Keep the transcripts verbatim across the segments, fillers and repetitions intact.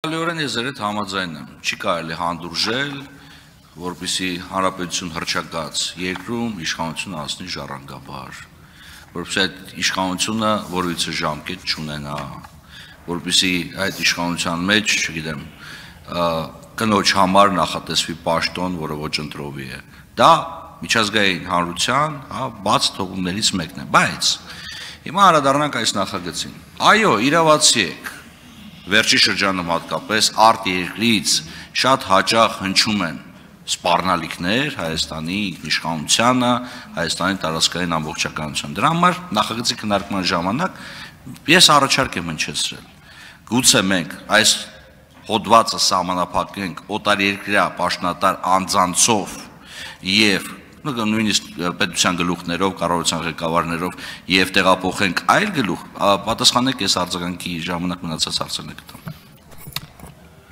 Լիորեն ես երետ համաձայն եմ, չի կարելի հանդուրժել, որպեսզի հանրապետություն հռչակած երկրում իշխանությունը հասնի ժառանգաբար, որպեսզի այդ իշխանությունը որևիցե ժամկետ չունենա, որպեսզի այդ իշխանության մեջ, չգիտեմ, կնոջ համար նախատեսվի պաշտոն, որը ոչ ընտրովի է։ Դա միջազգային հանրության, բաց թողումներից մեկն է, բայց հիմա անդրադառնանք այս նախագծին։ Այո, իրավացի եք։ Վերջի շրջանում հատկապես արտերկրից շատ հաճախ հնչում են սպառնալիքներ Հայաստանի ինքնիշխանությանը, Հայաստանի տարածքային ամբողջականությանը։ Դրա համար նախագծի քննարկման ժամանակ ես առաջարկ եմ հնչեցրել։ Գուցե մենք այս հոդվածը սահմանափակենք օտարերկրյա պաշտոնատար անձանցով եւ նույնիսկ պետության գլուխներով, կառավարության ղեկավարներով եւ տեղափոխենք այլ գլուխ, պատասխանեք ես արձագանքի ժամանակ մնացած հարցերն կտամ։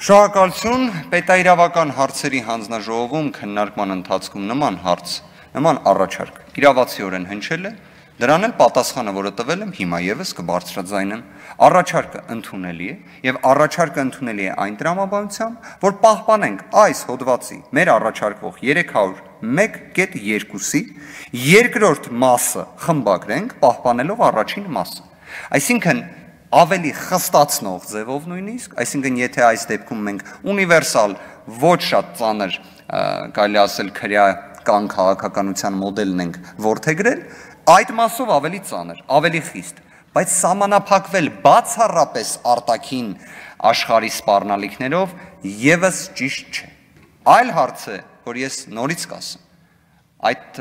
Շնորհակալություն, պետաիրավական հարցերի հանձնաժողովում քննարկման ընթացքում նման հարց, նման առաջարկ իրավացիորեն հնչել է, դրան էլ պատասխանը, որը տվել եմ, հիմա եւս կբարձրաձայնեմ, առաջարկը ընդունելի է եւ առաջարկը ընդունելի է այն տրամաբանությամբ, որ պահպանենք այս հոդվածի մեր առաջարկվող երեք հարյուր մեկ կետ երկուսի երկրորդ մասը խմբագրենք, պահպանելով առաջին մասը։ Այսինքն ավելի խստացնող ձևով նույնիսկ, այսինքն եթե այս դեպքում մենք ունիվերսալ ոչ շատ ծանր, կարելի ասել քրեական քաղաքականության մոդելն ենք որդեգրել, այդ մասով ավելի ծանր, ավելի խիստ, բայց սահմանափակվել բացառապես արտաքին աշխարհի սպառնալիքներով եւս ճիշտ չէ։ Այլ հարց է, որ ես նորից կասեմ, այդ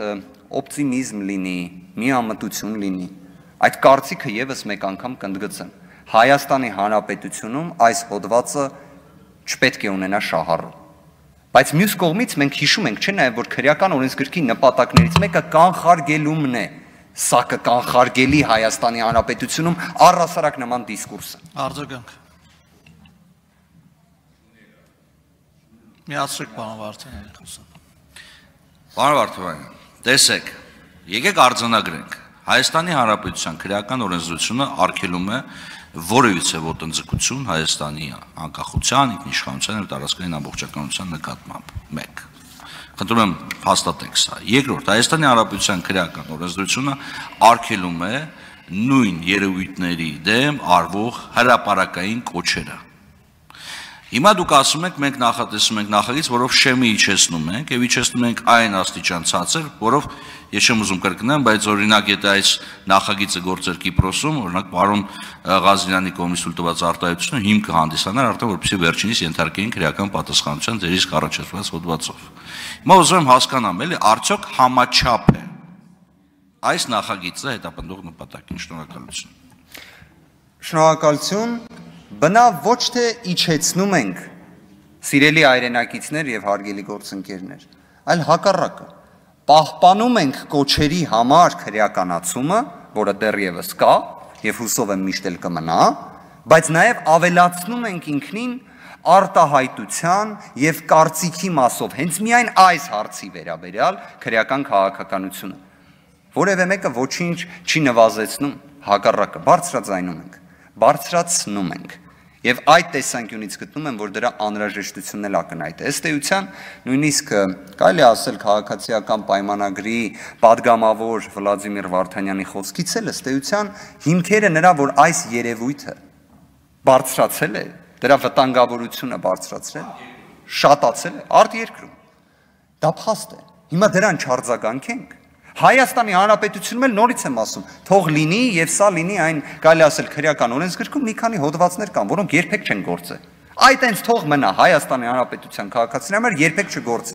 օպտիմիզմ լինի, միամտություն լինի, այդ կարծիքը եւս մեկ անգամ կընդգծեմ։ Հայաստանի Հանրապետությունում այս հոդվածը չպետք է ունենա շահառու։ Բայց մյուս կողմից մենք հիշում ենք, չէ՞ նաև որ քրեական օրենսգրքի նպատակներից մեկը կանխարգելումն է։ Սա կկանխարգելի Հայաստանի Հանրապետությունում առհասարակ նման դիսկուրսը։ Արձագանք։ Միացրեք պարոն Վարդանյանը խոսան։ Պարոն Վարդանյան, տեսեք, եկեք արձանագրենք։ Հայաստանի Հանրապետության քրեական օրենսդրությունը արգելում է որևիցե ոտնձգություն Հայաստանի անկախության, ինքնիշխանության եւ տարածքային ամբողջականության նկատմամբ։ մեկ Խնդրում եմ հաստատեք սա։ Երկրորդ, Հայաստանի Հանրապետության քրեական օրենսդրությունը արգելում է նույն երևույթների դեմ արվող հրապարակային կոչերը։ Հիմա դուք ասում եք, մենք նախատեսում ենք նախագիծ, որով շեմի իջեցնում ենք եւ իջեցնում ենք այն աստիճան ցածր, որով ես չեմ ուզում կրկնեմ, բայց օրինակ եթե այս նախագիծը գործեր Կիպրոսում, օրինակ պարոն Ղազարյանի կողմից տված արտահայտությունը հիմքը հանդիսանար արդեն որպեսզի վերջինիս ենթարկեին քրեական պատասխանատվության ձեր իսկ առաջացված հոդվածով։ Հիմա ուզում եմ հասկանամ, էլի արդյոք համաչափ է այս նախագիծը հետապնդող նպատակին։ Շնորհակալություն։ Շնորհակալություն։ Բնավ ոչ թե իջեցնում ենք, սիրելի հայրենակիցներ եւ հարգելի գործընկերներ, այլ հակառակը, պահպանում ենք կոչերի համար քրեականացումը, որը դեռևս կա եւ հուսով եմ միշտ էլ կմնա, բայց նաեւ ավելացնում ենք ինքնին արտահայտության եւ կարծիքի մասով հենց միայն այս հարցի վերաբերյալ քրեական քաղաքականությունը։ Որևէ մեկը ոչինչ չի նվազեցնում, հակառակը բարձրաձայնում ենք, բարձրացնում ենք։ Եվ այդ տեսանկյունից գտնում եմ, որ դրա անհրաժեշտությունն էլ ակնհայտ է։ Ըստ էության, նույնիսկ կարելի ասել քաղաքացիական պայմանագրի падգամավոր Վլադիմիր Վարդանյանի խոսքից էլ ըստ էության հիմքերը նրա, որ այս երևույթը բարձրացել է, դրա վտանգավորությունը բարձրացրել, շատացել է արտերկրում։ Դա փաստ է։ Հիմա դրան չարձագանքենք։ Հայաստանի Հանրապետությունում էլ նորից եմ ասում, թող լինի եւ սա լինի այն կարելի ասել քրեական օրենսգրքում մի քանի հոդվածներ կան, որոնք երբեք չեն գործել։ Այդ այնց թող մնա Հայաստանի Հանրապետության քաղաքացիների համար երբեք չգործի։